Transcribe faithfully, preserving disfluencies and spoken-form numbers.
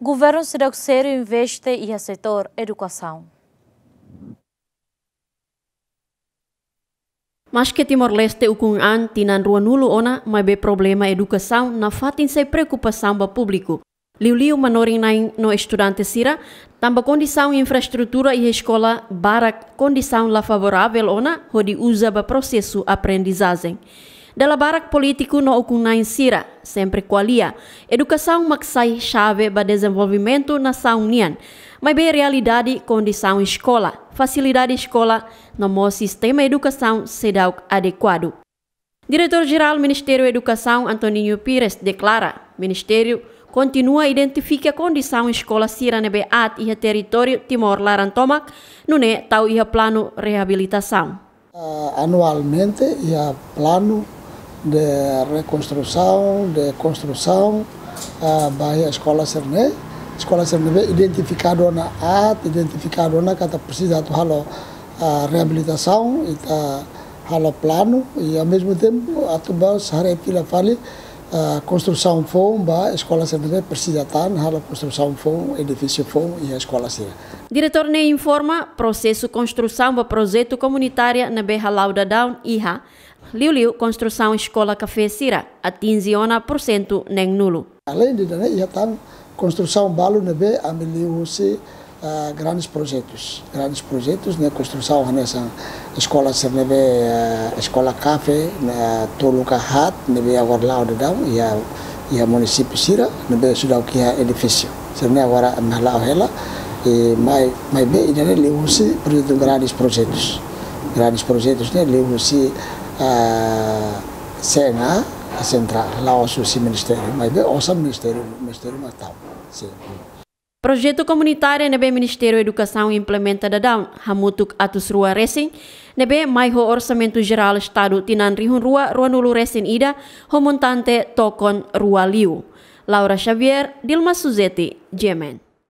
Governu seidauk sériu investe iha setór edukasaun. Maske Timor-Leste ukun an tinan ruanulu ona, maibé problema edukasaun nafatin sai preokupasaun ba públiku, liuliu manorin-na'in no estudante sira, tanba kondisaun infraestrutura iha eskola barak kondisaun la favoravel ona hodi uza ba prosesu aprendizajen. Dala barak polítiku no ukun-na'in sira sempre ko'alia, edukasaun mak sai xave ba dezenvolvimentu nasaun nian, maibé realidade kondisaun eskola, fasilidade eskola no mós sistema edukasaun seidauk adekuadu. Diretór-Jerál Ministériu Edukasaun, Antoninho Pires, deklara, Ministériu kontinua identifika kondisaun eskola sira ne'ebé aat iha territóriu Timor laran tomak, nune'e tau iha planu reabilitasaun. Ah, anualmente iha planu de rekonstrusaun, de konstrusaun, ah, ba iha eskola sira-ne'e, eskola sira ne'ebé identifikadu ona aat, identifikadu ona katak presiza atu halo, ah, reabilitasaun, ita halo planu, i ao mesmo tempo atu bá haree fila fali, ah, konstrusaun foun ba eskola sira ne'ebé presiza tan, halo konstrusaun foun, edifísiu foun iha eskola sira. Diretór ne'e informa, prosesu konstrusaun ba projetu komunitária ne'ebé hala'o daudaun iha, liuliu konstrusaun eskola kafé sira, atinje ona pursentu neenulu. Aleinde ida-ne'e, iha tan konstrusaun balu ne'ebé ami liuhusi, ah, grandes projetus. Grandes projetus ne'e konstrusaun hanesan eskola sira ne'ebé, ah, eskola kafé, ne'e tolu ka haat, ne'ebé agora la'o daudaun iha, iha munisípiu sira, ne'ebé seidauk iha edifísiu. Sira-ne'e agora ami hala'o hela, i mai, maibé ida-ne'e liuhusi projetu grandes projetus. Grandes projetus ne'e liuhusi, ah, C N A, sentrál, la'ós husi ministériu, maibé osan ministériu, ministériu mak tau. Sin. Projetu komunitária ne'ebé Ministériu Edukasaun implementa daudaun, hamutuk atus rua resin, ne'ebé mai ho orsamentu jerál Estadu tinan rihun rua ruanulu resin ida, ho montante tokon rua liu. Laura Xavier, Dilma Suzeti, G M N.